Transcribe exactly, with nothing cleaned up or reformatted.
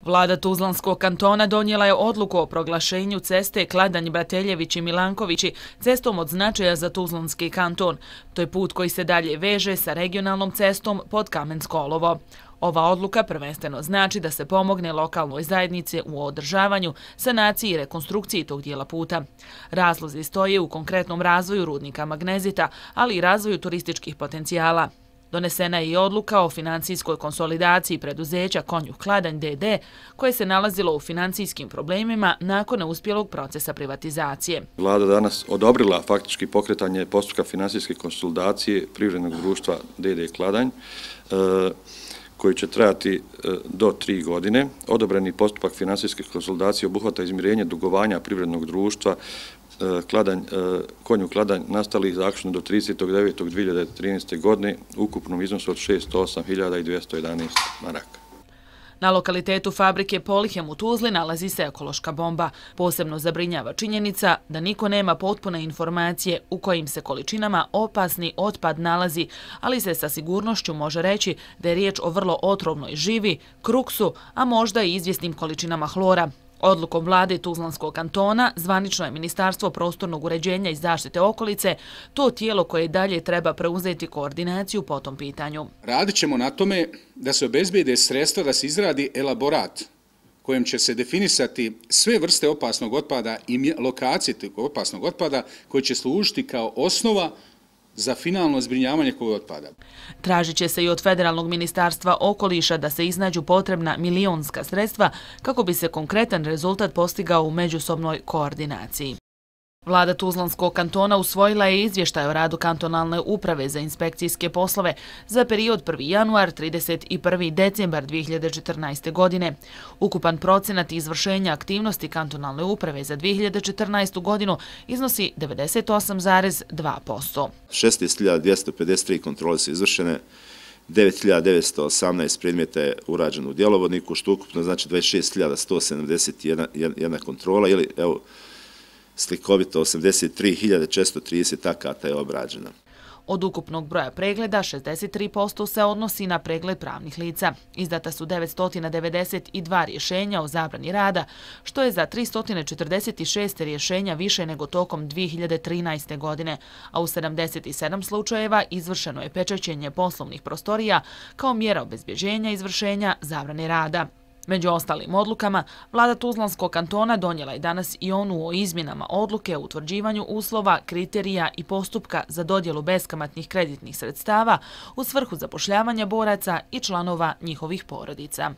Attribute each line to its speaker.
Speaker 1: Vlada Tuzlanskog kantona donijela je odluku o proglašenju ceste Kladanj-Brateljevići Milankovići cestom od značaja za Tuzlanski kanton. To je put koji se dalje veže sa regionalnom cestom pod Kamensko olovo. Ova odluka prvenstveno znači da se pomogne lokalnoj zajednici u održavanju, sanaciji i rekonstrukciji tog dijela puta. Razlozi stoje u konkretnom razvoju rudnika magnezita, ali i razvoju turističkih potencijala. Donesena je i odluka o financijskoj konsolidaciji preduzeća Konjuh Kladanj de de, koje se nalazilo u financijskim problemima nakon neuspjelog procesa privatizacije.
Speaker 2: Vlada danas odobrila faktički pokretanje postupka financijske konsolidacije privrednog društva de de Kladanj, koji će trajati do tri godine. Odobreni postupak financijske konsolidacije obuhvata izmirenje dugovanja privrednog društva Kladanj, Konjuh Kladanj nastalih zaključno do tridesetog devetog dvije hiljade trinaeste. godine u ukupnom iznosu od šesto osam hiljada dvjesto jedanaest maraka.
Speaker 1: Na lokalitetu fabrike Polihem u Tuzli nalazi se ekološka bomba. Posebno zabrinjava činjenica da niko nema potpune informacije u kojim se količinama opasni otpad nalazi, ali se sa sigurnošću može reći da je riječ o vrlo otrovnoj živi, kruksu, a možda i izvjesnim količinama hlora. Odlukom vlade Tuzlanskog kantona zvanično je Ministarstvo prostornog uređenja i zaštite okolice to tijelo koje dalje treba preuzeti koordinaciju po tom pitanju.
Speaker 3: Radit ćemo na tome da se obezbijede sredstva da se izradi elaborat kojem će se definisati sve vrste opasnog otpada i lokacije opasnog otpada koji će služiti kao osnova za finalno zbrinjavanje kog otpada.
Speaker 1: Tražit će se i od Federalnog ministarstva okoliša da se iznađu potrebna milionska sredstva kako bi se konkretan rezultat postigao u međusobnoj koordinaciji. Vlada Tuzlanskog kantona usvojila je izvještaj o radu kantonalne uprave za inspekcijske poslove za period prvi januar do trideset prvi decembar dvije hiljade četrnaeste. godine. Ukupan procenat izvršenja aktivnosti kantonalne uprave za dvije hiljade četrnaestu. godinu iznosi devedeset osam zarez dva posto.
Speaker 4: šesnaest hiljada dvjesto pedeset tri kontrole su izvršene, devet hiljada devetsto osamnaest predmeta je urađeno u djelovodniku, što ukupno znači dvadeset šest hiljada sto sedamdeset jedna kontrola ili evo slikovito osamdeset tri hiljade četiristo trideset akata je obrađeno.
Speaker 1: Od ukupnog broja pregleda, šezdeset tri posto se odnosi na pregled pravnih lica. Izdata su devetsto devedeset dva rješenja o zabrani rada, što je za tristo četrdeset šest rješenja više nego tokom dvije hiljade trinaeste. godine, a u sedamdeset sedam slučajeva izvršeno je pečaćenje poslovnih prostorija kao mjera obezbjeđenja izvršenja zabrane rada. Među ostalim odlukama, vlada Tuzlanskog kantona donijela je danas i onu o izmjenama odluke o utvrđivanju uslova, kriterija i postupka za dodjelu beskamatnih kreditnih sredstava u svrhu zapošljavanja boraca i članova njihovih porodica.